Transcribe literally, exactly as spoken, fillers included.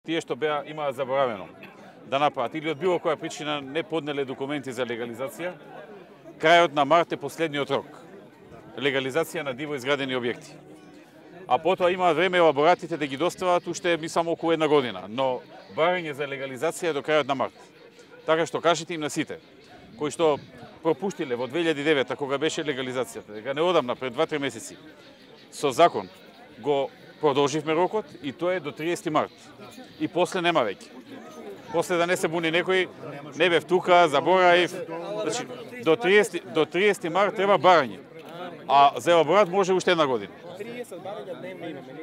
Тие што беа имаа заборавено да направат или од било која причина не поднеле документи за легализација, крајот на март е последниот рок. Легализација на диво изградени објекти. А потоа имаат време елаборатите да ги достават уште ми само околу една година, но барање за легализација е до крајот на март. Така што кажете им на сите кои што пропуштиле во две илјади и девета кога беше легализацијата, дека не одамна пред два-три месеци со закон го продолживме рокот и тоа е до триесети март. И после нема веќе. После да не се буни некој, не бев тука, забораив. Значи, до триесети, до триесети март треба барање. А за елаборат може уште една година. триесет барања дневно имаме.